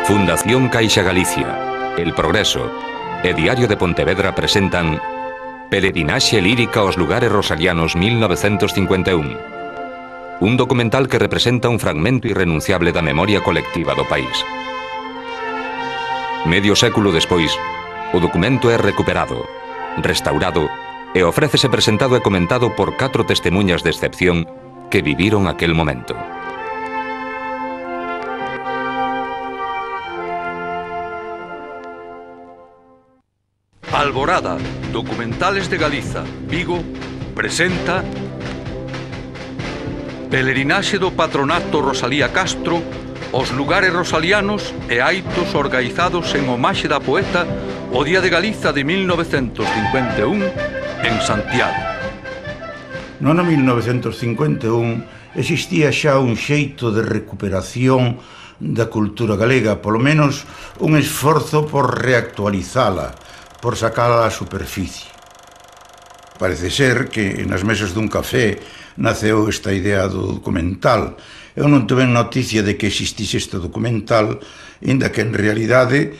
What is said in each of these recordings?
Fundación Caixa Galicia, El Progreso e Diario de Pontevedra presentan Peregrinaxe lírica aos lugares rosalianos 1951. Un documental que representa un fragmento irrenunciable da memoria colectiva do país. Medio século despois, o documento é recuperado, restaurado e ofrécese presentado e comentado por 4 testemunhas de excepción que viviron aquel momento. Alborada, Documentales de Galiza, Vigo, presenta Pelerinaxe do Patronato Rosalía Castro, os lugares rosalianos e aitos organizados en homaxe da poeta o Día de Galiza de 1951 en Santiago. No ano 1951 existía xa un xeito de recuperación da cultura galega, polo menos un esforzo por reactualizala, por sacala á superficie. Parece ser que nas mesas dun café naceu esta idea do documental. Eu non tuve noticia de que existise este documental, inda que en realidade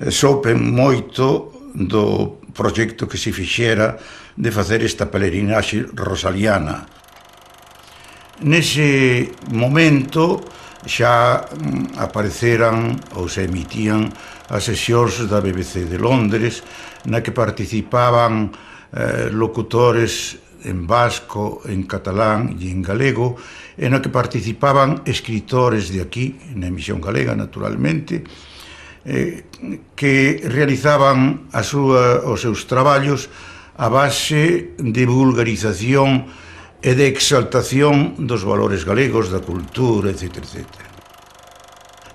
soupen moito do proxecto que se fixera de facer esta peregrinaxe rosaliana. Nese momento xa apareceran ou se emitían as sesións da BBC de Londres, na que participaban locutores en vasco, en catalán e en galego, e na que participaban escritores de aquí, na emisión galega, naturalmente, que realizaban os seus traballos a base de vulgarización e de exaltación dos valores galegos, da cultura, etc.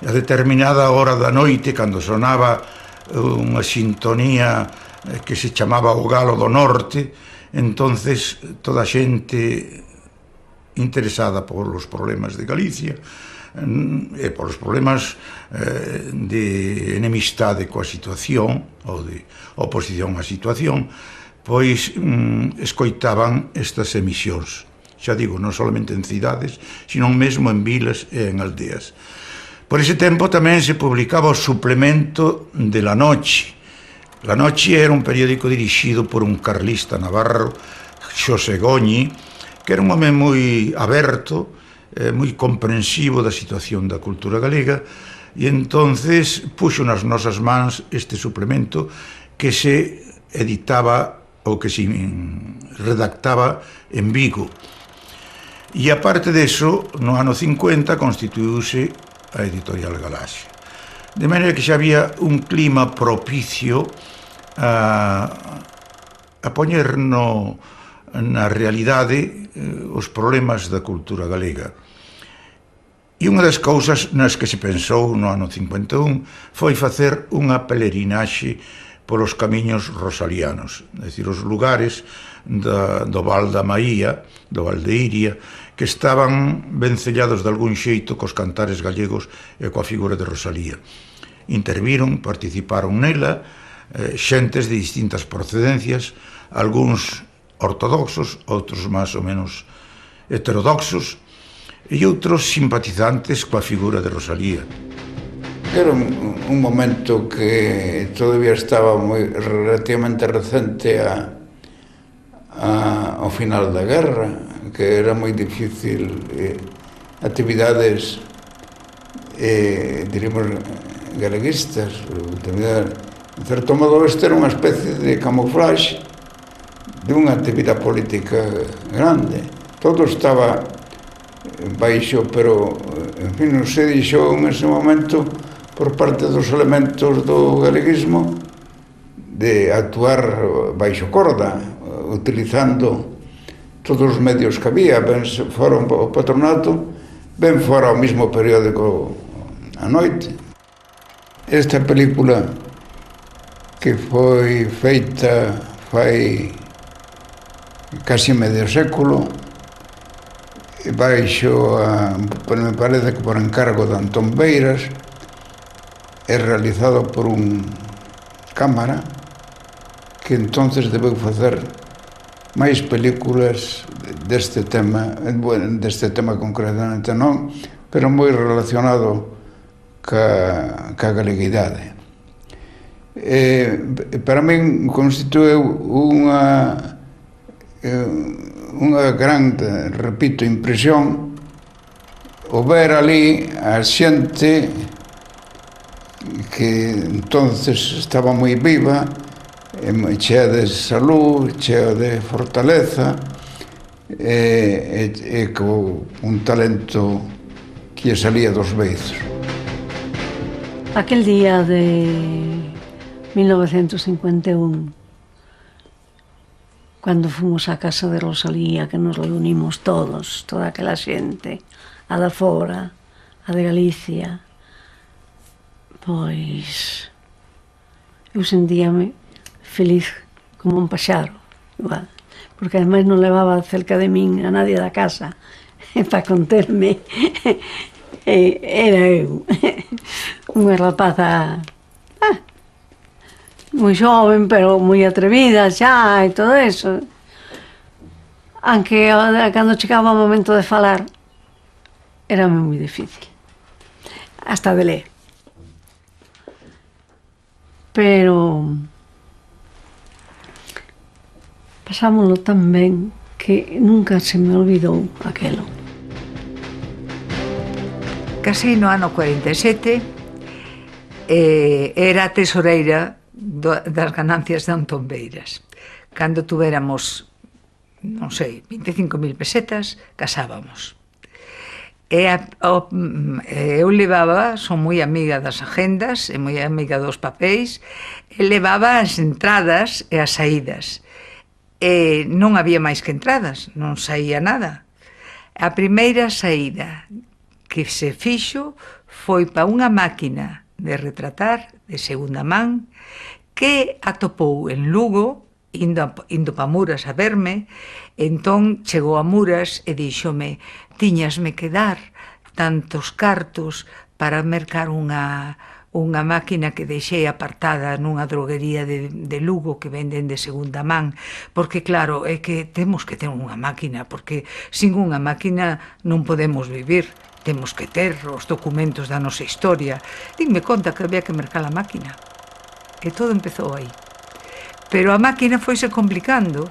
A determinada hora da noite, cando sonaba unha sintonía que se chamaba o Galo do Norte, entonces toda a xente interesada polos problemas de Galicia e polos problemas de enemistade coa situación ou de oposición á situación, pois escoitaban estas emisións. Xa digo, non solamente en cidades, sino mesmo en vilas e en aldeas. Por ese tempo tamén se publicaba o suplemento de La Noche. La Noche era un periódico dirixido por un carlista navarro, Xosé Goñi, que era un home moi aberto, moi comprensivo da situación da cultura galega, e entonces puxo nas nosas mans este suplemento que se editaba ou que se redactaba en Vigo. E aparte deso, no ano 50 constituíuse a Editorial Galaxia. De maneira que xa había un clima propicio a poñer na realidade os problemas da cultura galega. E unha das cousas nas que se pensou no ano 51 foi facer unha pelerinaxe polos camiños rosalianos, é dicir, os lugares do Val da Maía, do Val de Iria, que estaban vencellados de algún xeito cos cantares gallegos e coa figura de Rosalía. Interviron, participaron nela, xentes de distintas procedencias, algúns ortodoxos, outros máis ou menos heterodoxos, e outros simpatizantes coa figura de Rosalía. Era un momento que todavía estaba relativamente recente ao final da guerra, que era moi difícil actividades, diríamos, galeguistas. En certo modo, este era unha especie de camuflaxe de unha actividade política grande. Todo estaba baixo, pero, en fin, non se dixou en ese momento por parte dos elementos do galeguismo de actuar baixo corda, utilizando todos os medios que había, ben fora o patronato, ben fora o mismo periódico A Noite. Esta película, que foi feita fai casi medio século, baixo, me parece que por encargo de Antón Beiras, é realizado por un cámara que entonces debeu facer máis películas deste tema concretamente non, pero moi relacionado ca galeguidade. Para min constitueu unha gran, repito, impresión o ver ali a xente que entonces estaba moi viva, chea de salud, chea de fortaleza, e con un talento que salía dos beizos. Aquel día de 1951, cando fomos á casa de Rosalía, que nos reunimos todos, toda aquela xente, a da fora, a de Galicia, pois eu sentíame feliz como un paxaro, igual, porque ademais non levaba cerca de min a nadie da casa para conterme. Era eu unha rapaza moi xoven, pero moi atrevida xa e todo eso. Aunque cando chegaba o momento de falar era moi difícil, hasta de ler. Pero pasámoslo tan ben que nunca se me olvidou aquelo. Casei no ano 47, era tesoreira das ganancias de Antón Beiras. Cando tuveramos, non sei, 25.000 pesetas, casábamos. Eu levaba, son moi amiga das agendas e moi amiga dos papéis, e levaba as entradas e as saídas. E non había máis que entradas, non saía nada. A primeira saída que se fixo foi para unha máquina de retratar de segunda man que atopou en Lugo, indo para Muras a verme. Entón chegou a Muras e díxome: tiñasme que dar tantos cartos para mercar unha máquina que deixei apartada nunha droguería de Lugo que venden de segunda man, porque claro, é que temos que ter unha máquina, porque sin unha máquina non podemos vivir. Temos que ter os documentos da nosa historia. Dinme conta que había que mercar a máquina. E todo empezou aí. Pero a máquina foise complicando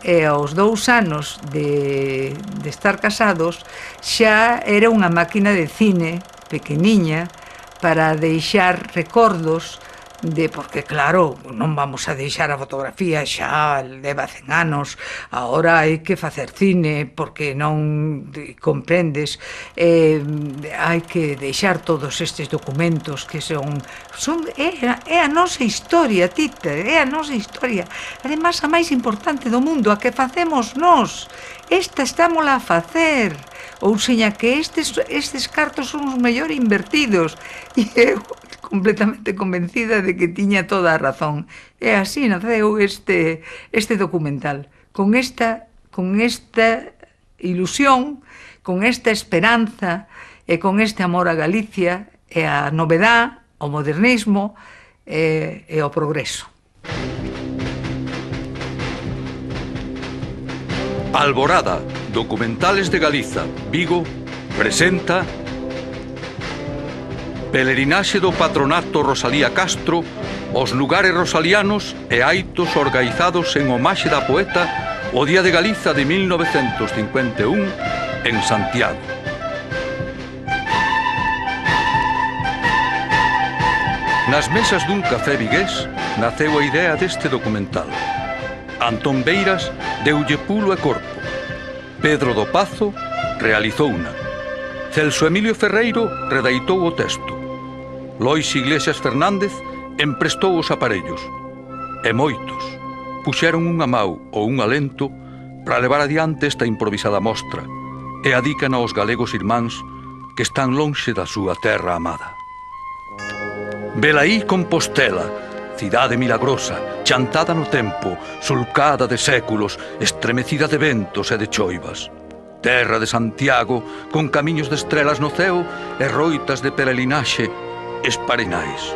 e aos 2 anos de estar casados xa era unha máquina de cine pequeniña para deixar recordos porque claro, non vamos a deixar a fotografía, xa leva 100 anos, agora hai que facer cine porque non comprendes, hai que deixar todos estes documentos que é a nosa historia, Tita, é a nosa historia, además a máis importante do mundo, a que facemos nós, esta estámola a facer, ou seña que estes cartos son os mellor invertidos, e eu completamente convencida de que tiña toda a razón. E así naceu este documental, con esta ilusión, con esta esperanza e con este amor a Galicia e a novedad, ao modernismo e ao progreso. Alborada, Documentales de Galiza, Vigo, presenta Pelerinaxe do Patronato Rosalía Castro, os lugares rosalianos e aitos organizados en homaxe da poeta o Día de Galiza de 1951 en Santiago. Nas mesas dun café vigués naceu a idea deste documental. Antón Beiras deulle pulo e corpo. Pedro do Pazo realizouna. Celso Emilio Ferreiro redaitou o texto. Lois Iglesias Fernández emprestou os aparellos. E moitos puxeron unha mau ou un alento para levar adiante esta improvisada mostra e adican aos galegos irmáns que están lonxe da súa terra amada. Velaí Compostela, cidade milagrosa, chantada no tempo, sulcada de séculos, estremecida de ventos e de choivas. Terra de Santiago, con camiños de estrelas no ceo e roitas de peregrinaxe esparenais.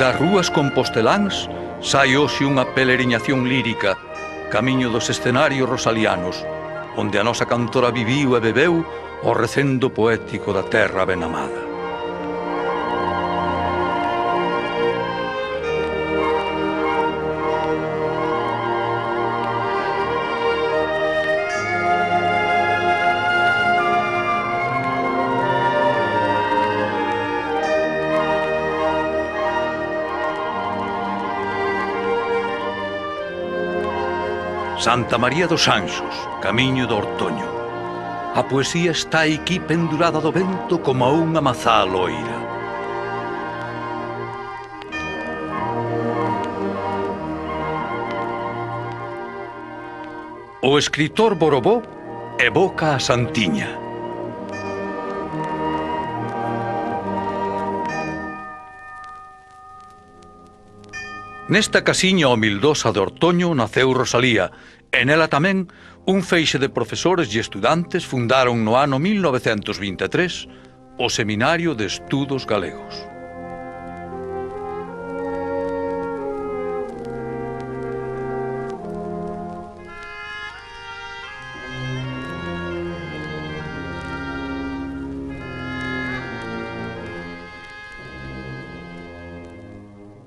Das rúas composteláns sai hoxe unha peregrinación lírica camiño dos escenarios rosalianos, onde a nosa cantora viviu e bebeu o recendo poético da terra ben amada. Santa María dos Anxos, camiño do Ortoño. A poesía está aquí pendurada do vento como unha mazá loira. O escritor Borobó evoca a Santiña. Nesta casiña humildosa de Ortoño naceu Rosalía, e nela tamén un feixe de profesores e estudantes fundaron no ano 1923 o Seminario de Estudos Galegos.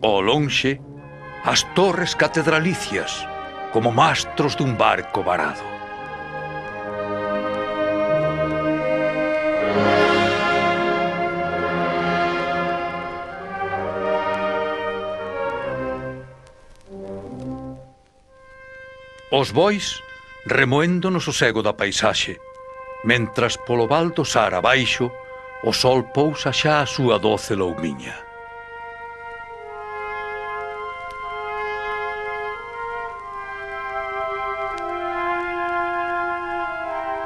Ao lonxe, as torres catedralicias, como mastros dun barco varado. Os bois remoendo no sosego da paisaxe, mentras polo val do Sar abaixo o sol pousa xa a súa doce loumiña.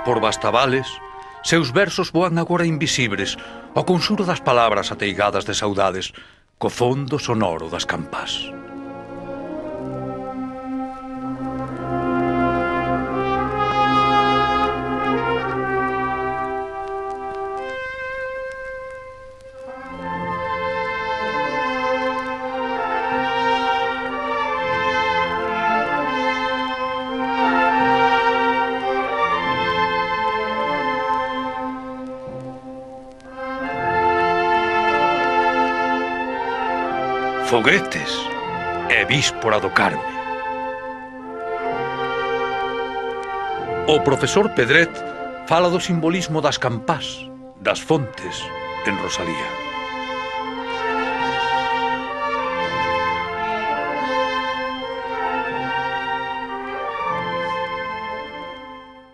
Por Bastavales, seus versos voan agora invisibles ao consuro das palabras ateigadas de saudades, co fondo sonoro das campás. Foguetes e víspora do Carme. O profesor Pedret fala do simbolismo das campás, das fontes, en Rosalía.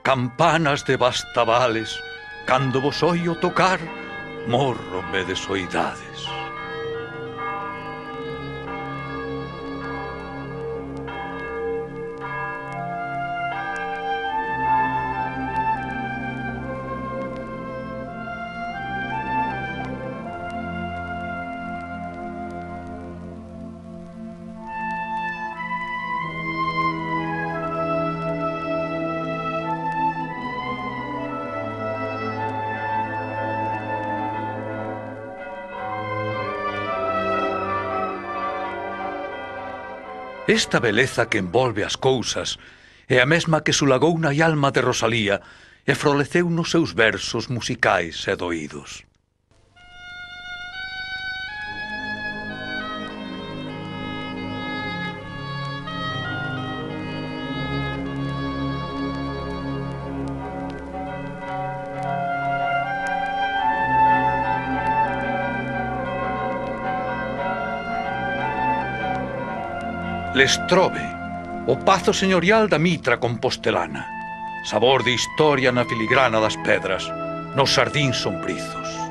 Campanas de Bastavales, cando vos oio tocar, morrome de soidades. Esta beleza que envolve as cousas é a mesma que sulagou na alma de Rosalía e floreceu nos seus versos musicais e doídos. Lestrobe, o pazo señorial da mitra compostelana, sabor de historia na filigrana das pedras, nos sardíns sombrizos.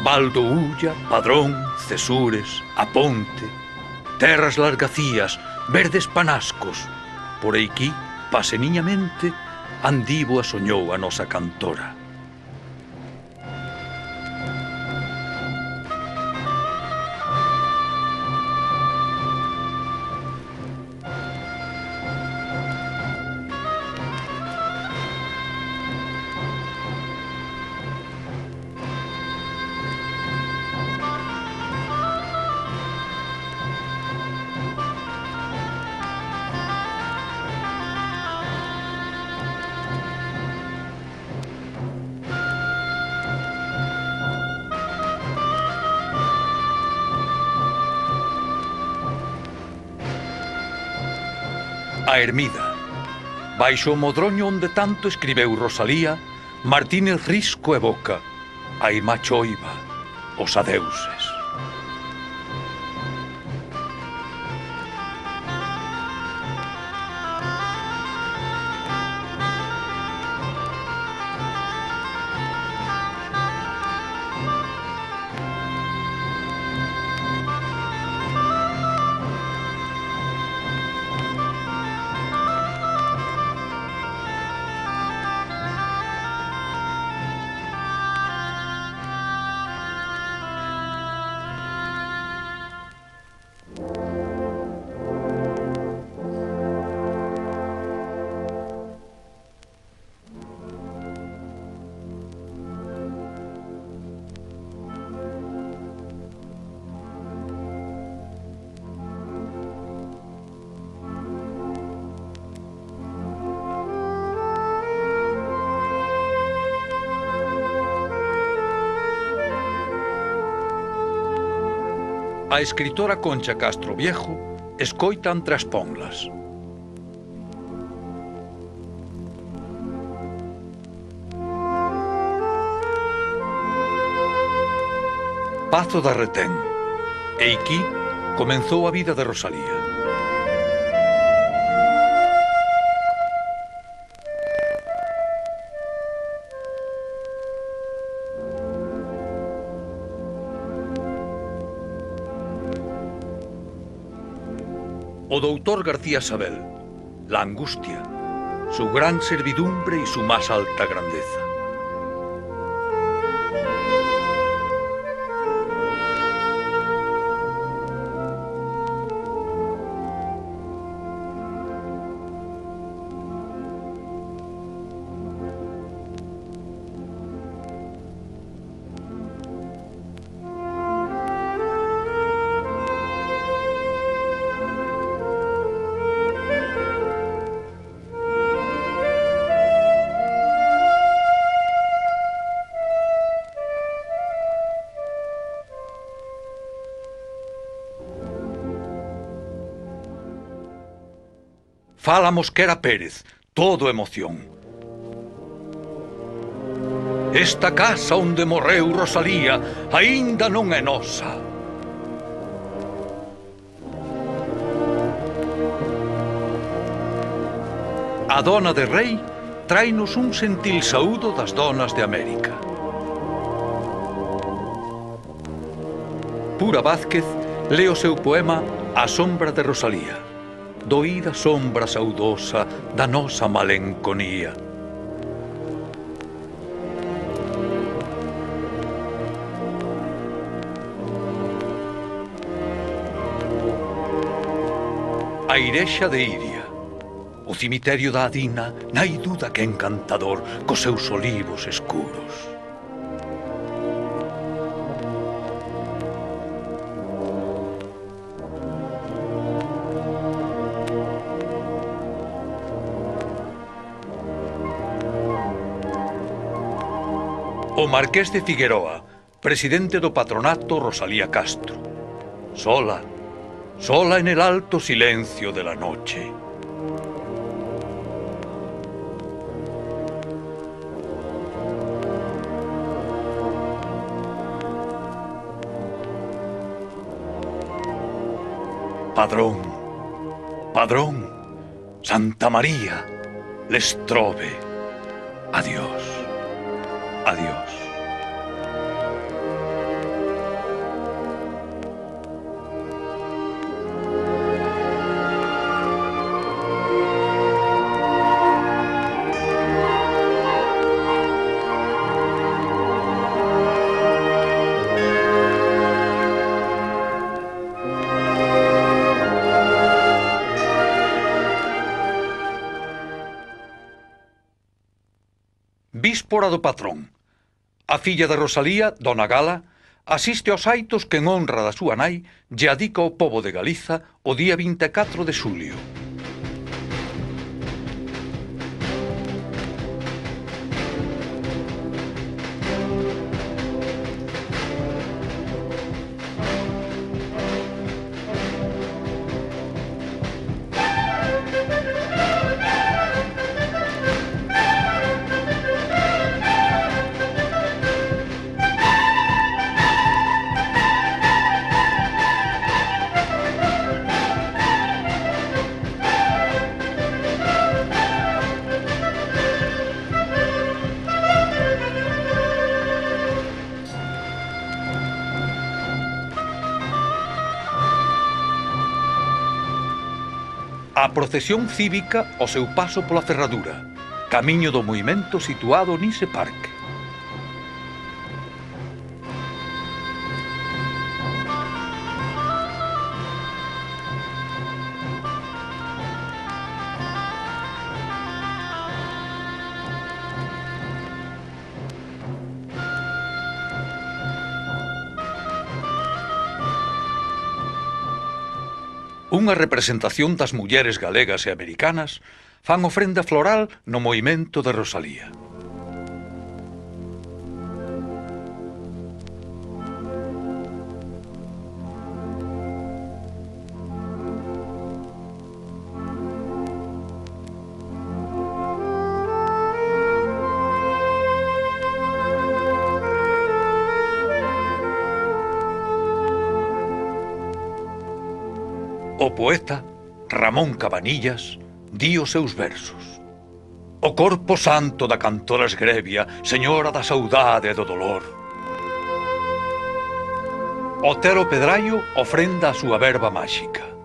Valdoulla, Padrón, Cesures, A Ponte, terras largacías, verdes panascos. Por eiquí, paseniñamente, andivo a soñou a nosa cantora. A ermida. Baixo o modroño onde tanto escribeu Rosalía, Martínez Risco evoca a irmá choiva, os adeuses. A escritora Concha Castro Viejo escoita entre as ponlas. Pazo da Retén. E aquí comenzou a vida de Rosalía. O doutor García Sabel, la angustia, su gran servidumbre y su más alta grandeza. Fala Mosquera Pérez, todo emoción. Esta casa onde morreu Rosalía aínda non é nosa. A dona de Rei tráenos un sentil saúdo das donas de América. Pura Vázquez lê o seu poema A sombra de Rosalía. Doída sombra saudosa da nosa malenconía. A Irexa de Iria, o cemiterio da Adina, nai duda que encantador, cos seus olivos escuros. O Marqués de Figueroa, presidente do patronato Rosalía Castro. Sola, sola en el alto silencio de la noche. Padrón, Padrón, Santa María, les trove. Adiós, adiós. Víspora do patrón. A filla de Rosalía, Dona Gala, asiste aos aitos que en honra da súa nai lle adica ao pobo de Galiza o día 24 de xulio. A procesión cívica ao seu paso pola ferradura, camiño do movimento situado nese parque. Unha representación das mulleres galegas e americanas fan ofrenda floral no movimento de Rosalía. O poeta Ramón Cabanillas di os seus versos. O corpo santo da cantora esgrebia, señora da saudade e do dolor. Otero Pedraio ofrenda a súa verba máxica.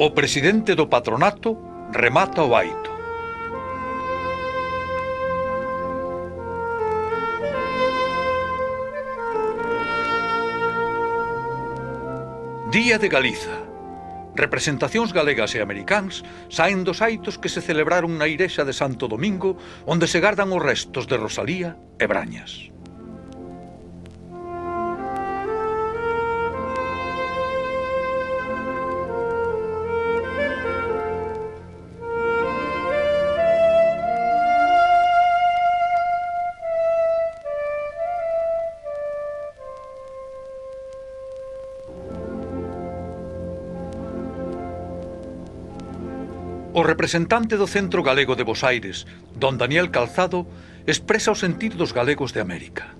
O presidente do patronato remata o aito. Día de Galiza. Representacións galegas e americáns saen dos aitos que se celebraron na igrexa de Santo Domingo, onde se gardan os restos de Rosalía e Brañas. O representante do Centro Galego de Bosaires, don Daniel Calzado, expresa o sentir dos galegos de América.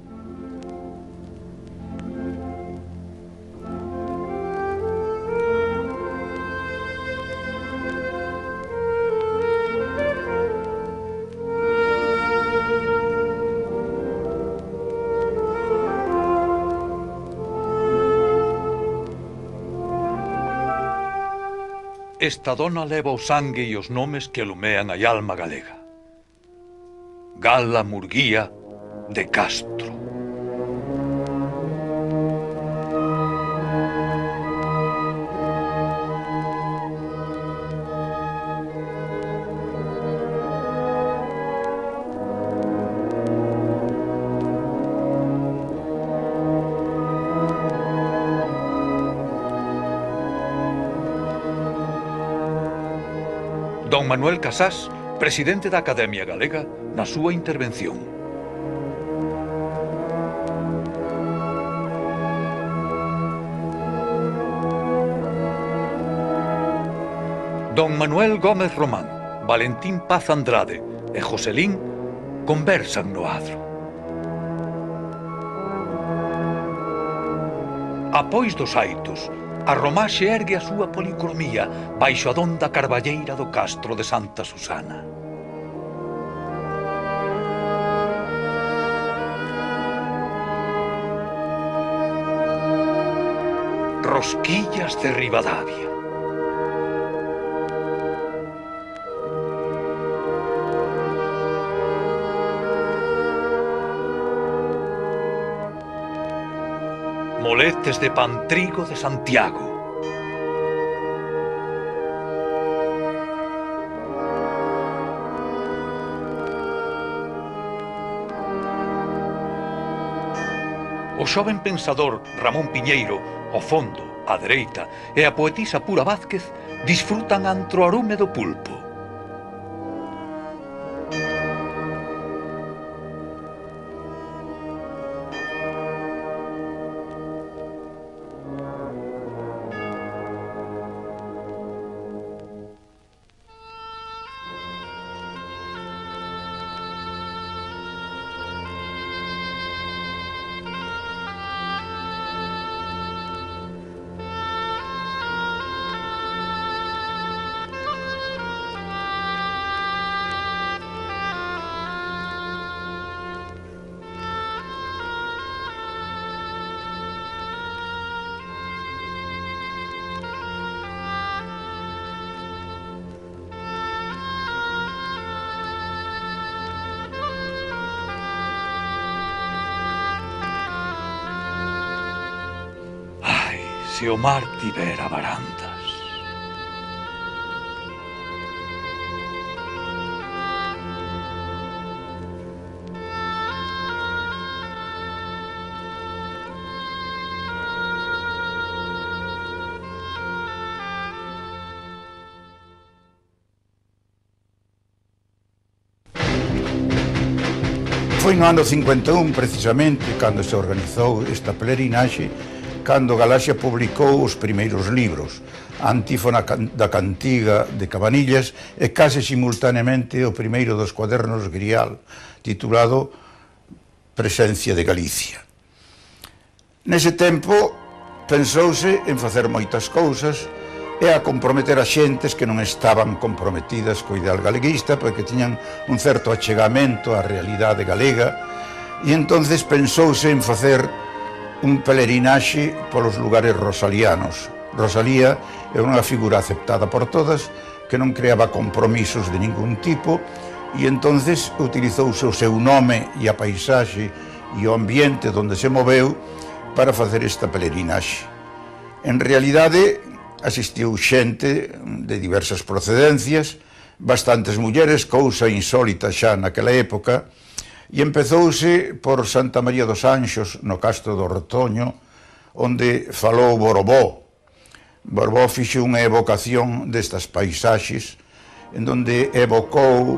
Esta dona leva o sangue e os nomes que alumean a alma galega. Gala Murguía de Castro. Don Manuel Casás, presidente da Academia Galega, na súa intervención. Don Manuel Gómez Román, Valentín Paz Andrade e Joselín conversan no adro. Apois dos aitos, a romaxe ergue a súa policromía baixo a donda carballeira do castro de Santa Susana. Rosquillas de Ribadavia. Moletes de Pantrigo de Santiago. O xoven pensador Ramón Piñeiro, ao fondo, á dereita, e a poetisa Pura Vázquez disfrutan antro arume do pulpo. Se o mar tivera barandas. Foi no ano 51, precisamente, cando se organizou esta pelerinaxe, cando Galaxia publicou os primeiros libros, a Antífona da Cantiga de Cabanillas e case simultaneamente o primeiro dos cuadernos Grial, titulado Presencia de Galicia. Nese tempo pensouse en facer moitas cousas e a comprometer a xentes que non estaban comprometidas co ideal galeguista porque tiñan un certo achegamento á realidade galega e entonces pensouse en facer un pelerinaxe polos lugares rosalianos. Rosalía é unha figura aceptada por todas, que non creaba compromisos de ningún tipo, e entonces utilizouse o seu nome e a paisaxe e o ambiente onde se moveu para facer esta pelerinaxe. En realidade, asistiu xente de diversas procedencias, bastantes mulleres, cousa insólita xa naquela época, e empezouse por Santa María dos Anxos, no Castro do Ortoño, onde falou Borbó. Borbó fixe unha evocación destas paisaxes, en donde evocou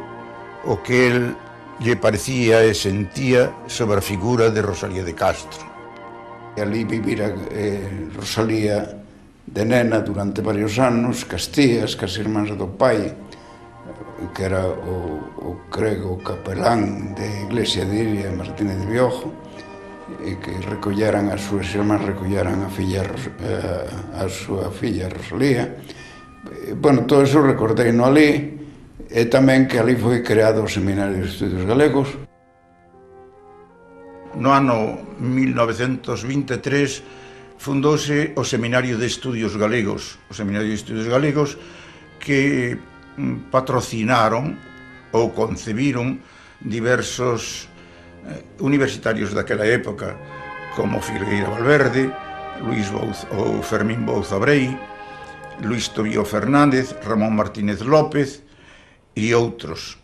o que el lle parecía e sentía sobre a figura de Rosalía de Castro. E ali vivira Rosalía de nena durante varios anos, castías, cas irmáns do pai, que era o crego capelán de Iglesia de Iria Martínez de Biojo, e que recolleran as súas irmás, recolleran a súa filla Rosalía. Bueno, todo eso recordei no ali, e tamén que ali foi creado o Seminario de Estudios Galegos. No ano 1923 fundouse o Seminario de Estudios Galegos, que patrocinaron ou concebiron diversos universitarios daquela época, como Filgueira Valverde, Fermín Bouza Brei, Luís Tobío Fernández, Ramón Martínez López e outros.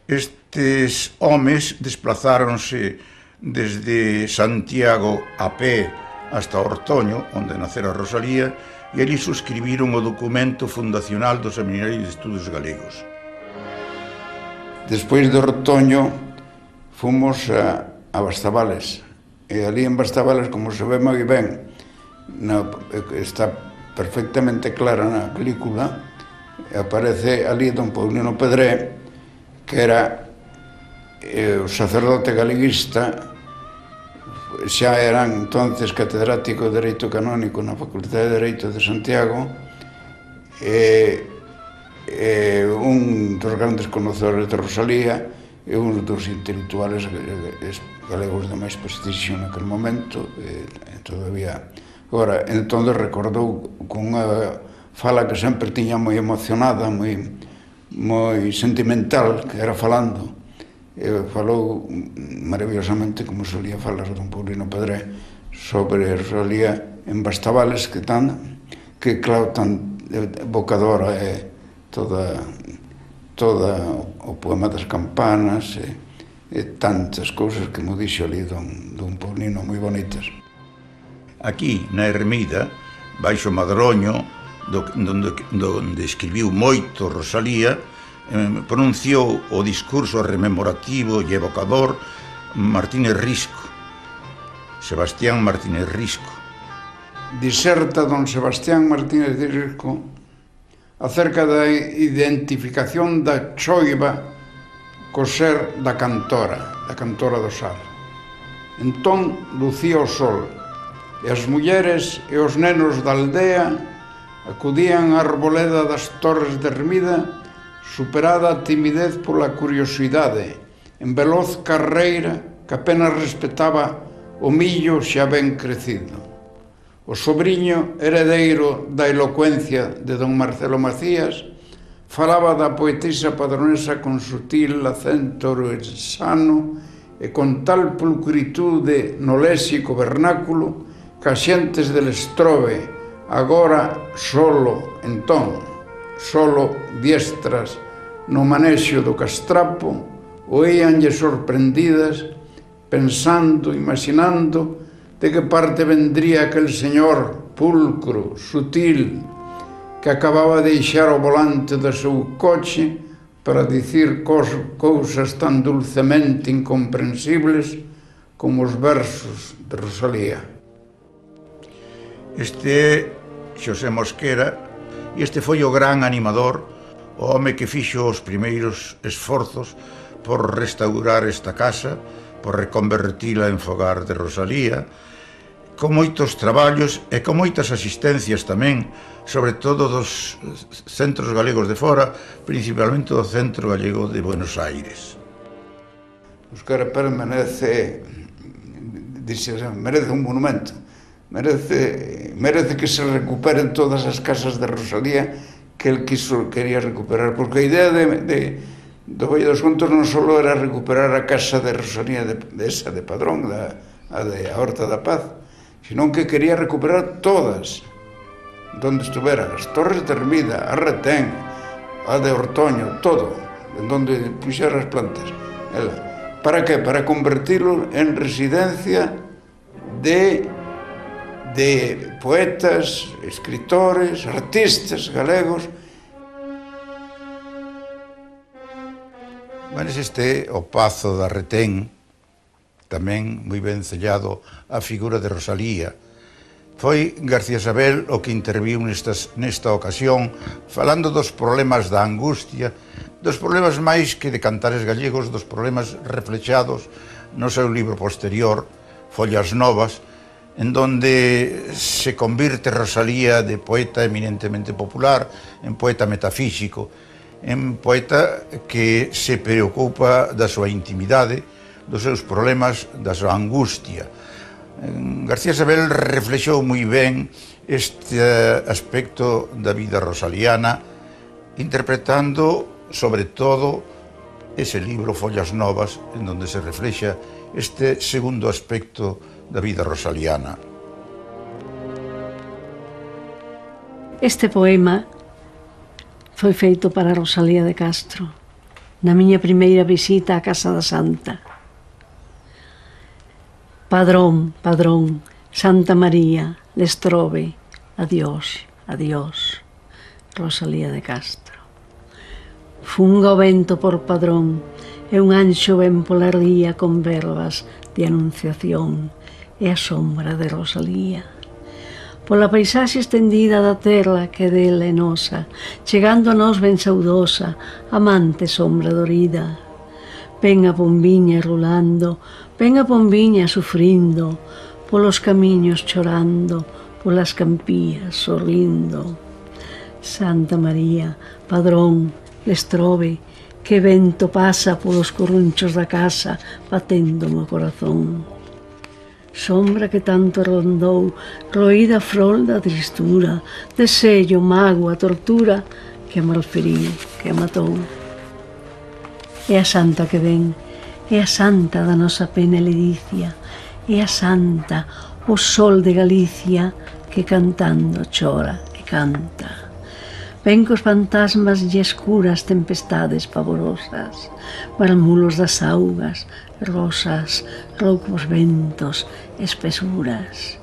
Estes homes desplazáronse desde Santiago a pé hasta Ortoño, onde nacera Rosalía, e ali suscribiron o documento fundacional do Seminario de Estudos Galegos. Despois de Ortoño fomos a Bastavales, e ali en Bastavales, como se ve moi ben, está perfectamente clara na película, aparece ali don Paulino Pedré, que era o sacerdote galeguista, xa eran entonces catedrático de Dereito Canónico na Facultade de Dereito de Santiago, un dos grandes conocedores de Rosalía e un dos intelectuales galegos de máis prestixio naquele momento, todavía. Agora, entón recordou con unha fala que sempre tiña moi emocionada, moi sentimental, que era falando. Falou maravillosamente, como solía falar don Paulino Pedré, sobre Rosalía en Bastavales, que claro, tan evocadora é toda o poema das campanas e tantas cousas que mo dixo ali dun Paulino moi bonitas. Aquí, na Ermida, baixo Madroño, donde escribiu moito Rosalía, pronunciou o discurso rememorativo e evocador Martínez Risco, Sebastián Martínez Risco. Diserta don Sebastián Martínez Risco acerca da identificación da choiva co ser da cantora do sal. Entón lucía o sol, e as mulleres e os nenos da aldea acudían á arboleda das Torres de Ermida, superada a timidez pola curiosidade, en veloz carreira que apenas respetaba o millo xa ben crecido. O sobriño, heredeiro da elocuencia de don Marcelo Macías, falaba da poetisa padronesa con sutil acento ourensano e con tal pulcritude no léxico vernáculo que as xentes del Estrobe, agora solo diestras no manexo do castrapo, oíanlle sorprendidas, pensando, imaginando de que parte vendría aquel señor pulcro, sutil, que acababa de deixar o volante do seu coche para dicir cousas tan dulcemente incomprensibles como os versos de Rosalía. Este é Xosé Mosquera, e este foi o gran animador, o home que fixo os primeiros esforzos por restaurar esta casa, por reconvertila en fogar de Rosalía, con moitos traballos e con moitas asistencias tamén, sobre todo dos centros galegos de fora, principalmente do Centro Galego de Buenos Aires. Óscar Pérez merece un monumento, merece que se recuperen todas as casas de Rosalía que el quería recuperar, porque a idea do Valle dos Contos non só era recuperar a casa de Rosalía de Padrón, a Horta da Paz, senón que quería recuperar todas, donde estuveran as Torres de Ermida, a Retén, a de Ortoño, todo, en donde puxera as plantas. Para que? Para convertirlo en residencia de poetas, escritores, artistas galegos. Bueno, este o Pazo da Retén, tamén moi ben sellado a figura de Rosalía. Foi García Sabel o que interviu nesta ocasión, falando dos problemas da angustia, dos problemas máis que de cantares gallegos, dos problemas reflexados no seu libro posterior, Follas Novas, en donde se convirte Rosalía de poeta eminentemente popular en poeta metafísico, en poeta que se preocupa da súa intimidade, dos seus problemas, da súa angustia. García Sabel reflexou moi ben este aspecto da vida rosaliana, interpretando, sobre todo, ese libro Follas Novas, en donde se reflexa este segundo aspecto da vida rosaliana. Este poema foi feito para Rosalía de Castro, na miña primeira visita á Casa da Santa. Padrón, padrón, Santa María, Lestrobe, adiós, adiós, Rosalía de Castro. Funga o vento por padrón, e un anxo ven pola ría con verbas de anunciación, e a sombra de Rosalía. Pola paisaxe estendida da terra que dela é nosa, chegando a nós ben saudosa, amante sombra dorida. Ven a pombiña rulando, ven a pombiña sufrindo, polos camiños chorando, polas campías sorrindo. Santa María, padrón, Lestrobe, que vento pasa polos corrunchos da casa, batendo o corazón. Sombra que tanto rondou, roída frol da tristura, desello, mágoa, tortura, que a malferiu, que a matou. É a santa que ven, é a santa da nosa pena e ledicia, é a santa, o sol de Galicia que cantando chora e canta. Ven cos fantasmas e escuras tempestades pavorosas, marmulos das augas, rosas, roucos ventos, espesuras,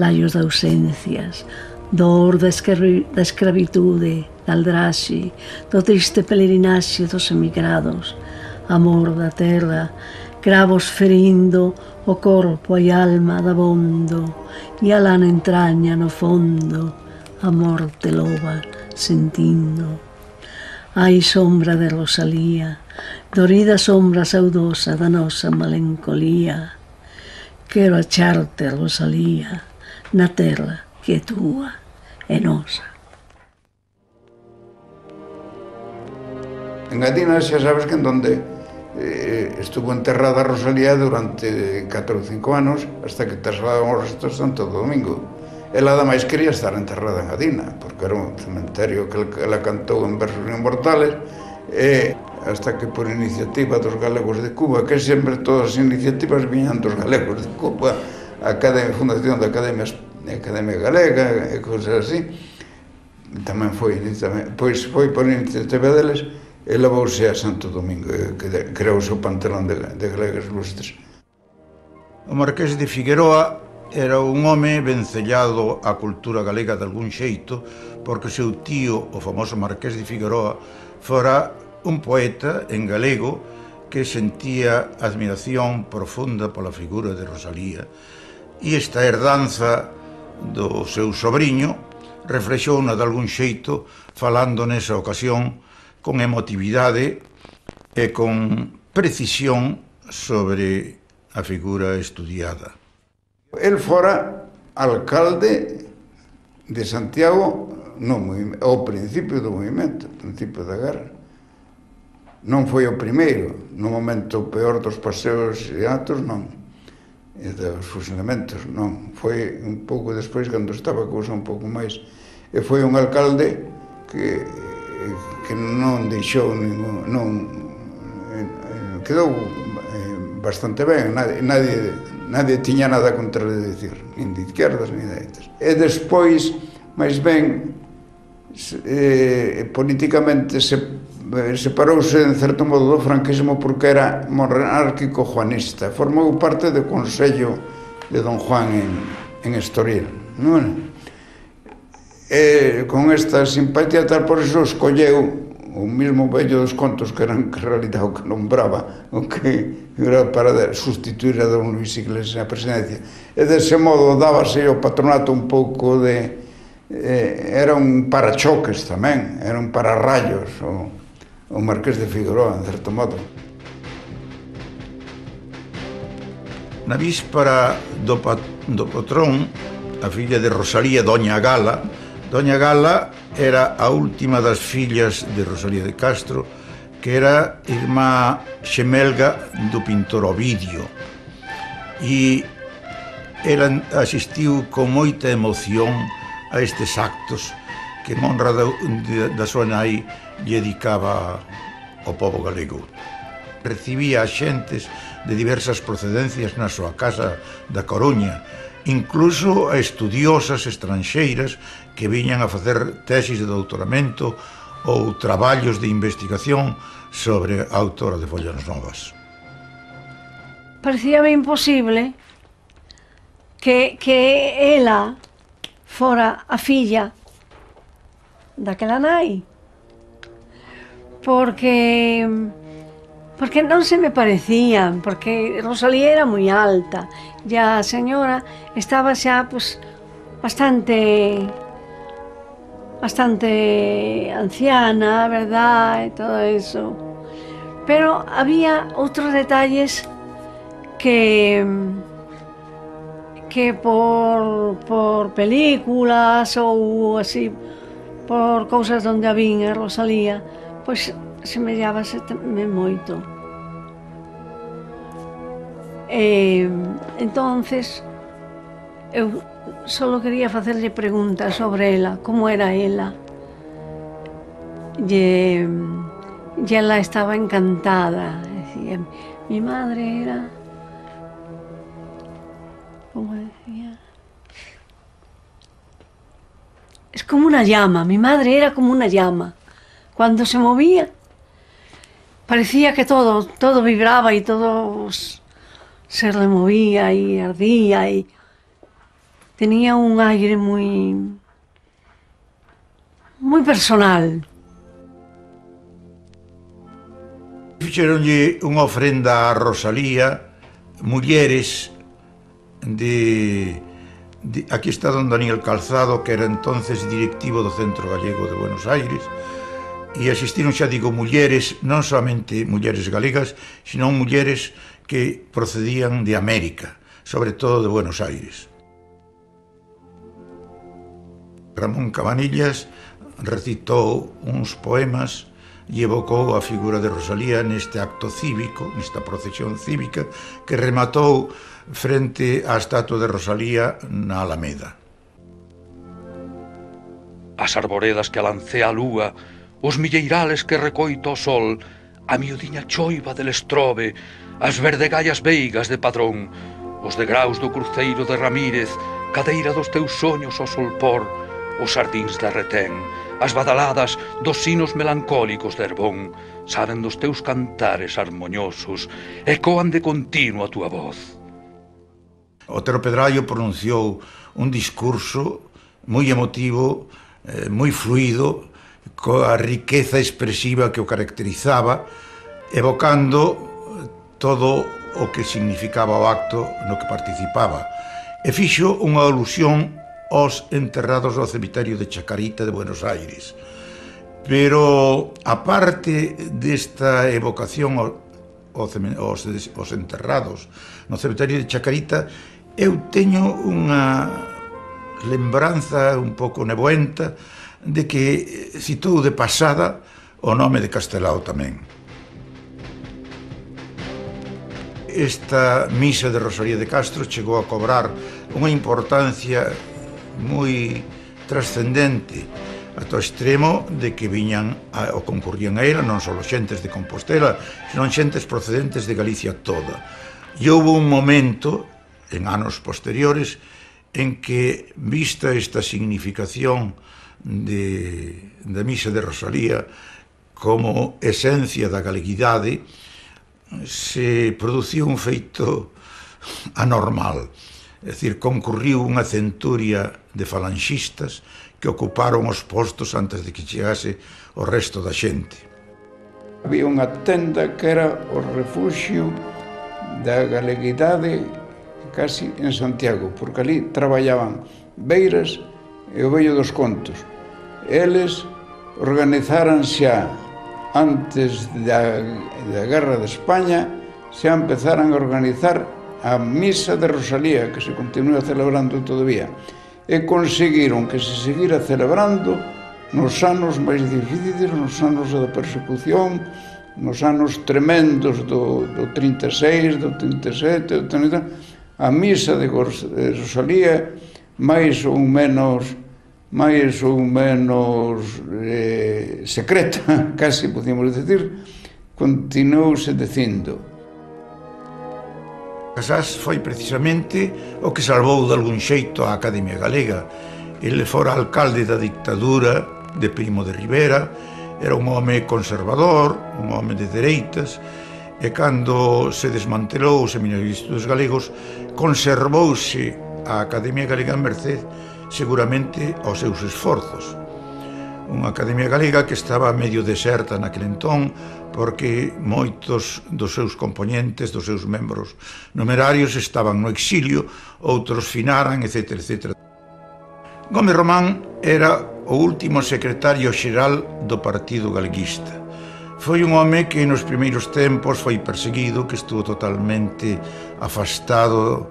laios de ausencias, dor da escravitude, da aldraxe, do triste pelerinaxe dos emigrados, amor da terra, cravos ferindo o corpo e alma dabondo, e a lana entraña no fondo, a morte loba sentindo. Ai, sombra de Rosalía, dorida sombra saudosa da nosa melancolía, quero acharte, Rosalía, na terra que é túa e nosa. En Adina xa sabes que en donde estuvo enterrada Rosalía durante 4 ou 5 anos hasta que trasladaron os restos de Santo Domingo. Ela ademais quería estar enterrada en Adina porque era un cementerio que ela cantou en versos inmortales, e hasta que por iniciativa dos galegos de Cuba, que sempre todas as iniciativas viñan dos galegos de Cuba, a fundación da Academia Galega e cousas así, tamén foi por iniciativa deles, e levouse a Santo Domingo, que creouse o pantelón de galegas lustres. O Marqués de Figueroa era un home vencellado á cultura galega de algún xeito, porque o seu tío, o famoso Marqués de Figueroa, fora un poeta en galego que sentía admiración profunda pola figura de Rosalía, e esta herdanza do seu sobriño reflexouna de algún xeito falando nesa ocasión con emotividade e con precisión sobre a figura estudiada. El fora alcalde de Santiago ao principio do movimento, ao principio da guerra. Non foi o primeiro, no momento peor dos paseos e atos, non. E dos fusilamentos, non. Foi un pouco despois, cando estaba a cousa un pouco máis. E foi un alcalde que non deixou quedou bastante ben, nadie tiña nada contra dicir, nin de izquierdas nin de dereitas. E despois, máis ben, políticamente separouse en certo modo do franquismo porque era monárquico juanista, formou parte do Consello de Don Juan en Estoril, non? E con esta simpatía tal, por iso escolleu o mismo vello dos contos que en realidad o que nombraba, o que era para sustituir a don Luis Iglesias na presidencia. E dese modo dábase ao patronato un pouco de... era un parachoques tamén, era un pararrayos o Marqués de Figueroa, en certo modo. Na víspera do patrón, a filla de Rosalía, Doña Gala era a última das fillas de Rosalía de Castro, que era irmá xemelga do pintor Ovidio, e ela asistiu con moita emoción a estes actos que en honra da súa nai lle dedicaba ao pobo galego. Recibía a xentes de diversas procedencias na súa casa da Coruña, incluso a estudiosas estranxeiras que viñan a facer tesis de doutoramento ou traballos de investigación sobre a autora de Follas Novas. Parecíame imposible que ela fora a filla daquela nai, porque non se me parecían, porque Rosalía era moi alta e a señora estaba xa bastante anciana, verdad, e todo eso. Pero había outros detalles que por películas ou así, por cousas onde a vin a Rosalía, pois semellábaseme moito. Entonces, eu só quería facerlle preguntas sobre ela, como era ela. E ela estaba encantada. Decía, mi madre era, como decía, como una llama. Mi madre era como una llama. Cuando se movía, parecía que todo vibraba y todo se removía y ardía. Y tenía un aire muy personal. Fixeronlle unha ofrenda a Rosalía, mulleres aquí está don Daniel Calzado, que era entonces directivo do Centro Gallego de Buenos Aires, e asistiron, xa digo, mulleres, non solamente mulleres galegas, sino mulleres que procedían de América, sobre todo de Buenos Aires. Ramón Cabanillas recitou uns poemas e evocou a figura de Rosalía neste acto cívico, nesta procesión cívica, que rematou frente á estatua de Rosalía na Alameda. As arboredas que alancea a lúa, os milleirales que recoito o sol, a miudiña choiva del estrobe, as verdegallas veigas de Padrón, os degraus do cruceiro de Ramírez, cadeira dos teus soños ao solpor, os sardíns da Retén, as badaladas dos sinos melancólicos de Herbón, saben dos teus cantares harmoniosos, ecoan de continuo a túa voz. Otero Pedrallo pronunciou un discurso moi emotivo, moi fluido, coa riqueza expresiva que o caracterizaba, evocando todo o que significaba o acto no que participaba. E fixo unha alusión aos enterrados do cemiterio de Chacarita de Buenos Aires. Pero, aparte desta evocación aos enterrados no cemiterio de Chacarita, eu teño unha lembranza un pouco nebuenta de que citou de pasada o nome de Castelao tamén. Esta misa de Rosalía de Castro chegou a cobrar unha importancia moi trascendente ata o extremo de que viñan ou concurrían a ela non só xentes de Compostela, senón xentes procedentes de Galicia toda. E houve un momento, en anos posteriores, en que, vista esta significación da misa de Rosalía como esencia da galeguidade, se produciu un feito anormal. É dicir, concurriu unha centuria de falanxistas que ocuparon os postos antes de que chegase o resto da xente. Había unha tenda que era o refuxio da galeguidade casi en Santiago, porque ali traballaban Beiras e o Vello dos Contos. Eles organizaran xa antes da Guerra de España, xa empezaran a organizar a misa de Rosalía, que se continúa celebrando todavía, e conseguiron que se seguira celebrando nos anos máis difíciles, nos anos da persecución, nos anos tremendos do 36, do 37, do 30, a misa de Rosalía, máis ou menos secreta, casi podíamos decir, continuouse dicindo. Casás foi precisamente o que salvou de algún xeito a Academia Galega. Ele fora alcalde da dictadura de Primo de Rivera, era un home conservador, un home de dereitas, e cando se desmantelou o Seminario de Estudos Galegos, conservouse a Academia Galega en merced seguramente aos seus esforzos. Unha Academia Galega que estaba medio deserta naquele entón, porque moitos dos seus componentes, dos seus membros numerarios estaban no exilio, outros finaran, etc. etc. Gómez Román era o último secretario xeral do Partido Galeguista. Foi un home que nos primeiros tempos foi perseguido, que estuvo totalmente afastado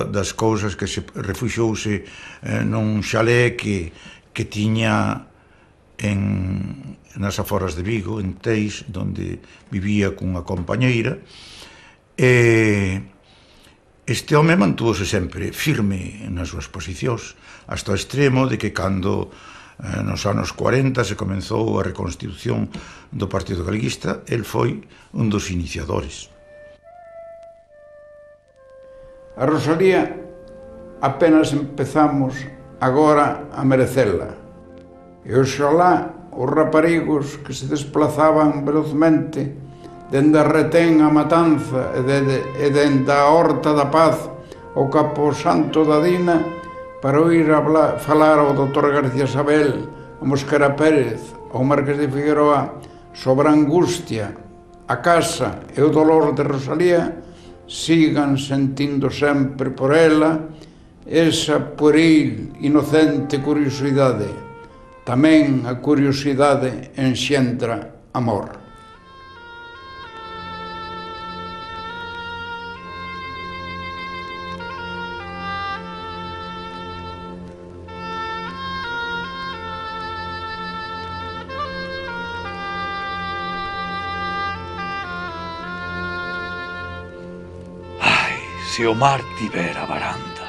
das cousas, que se refuxouse nun chalé que tiña nas aforas de Vigo, en Teis, onde vivía cunha compañeira. Este home mantúvose sempre firme nas súas posicións, hasta o extremo de que cando nos anos 40 se comenzou a reconstitución do Partido Galeguista, el foi un dos iniciadores. A Rosalía apenas empezamos agora a merecela. E oxalá os raparigos que se desplazaban velozmente dende a retén a Matanza e dende a Horta da Paz ao Camposanto da Dina para oír falar ao Dr. García Sabel, a Mosquera Pérez, ao Marqués de Figueroa sobre a angustia, a casa e o dolor de Rosalía, sigan sentindo sempre por ela esa pueril, inocente curiosidade. Tamén a curiosidade enxentra amor. Se o mar tivera varanda.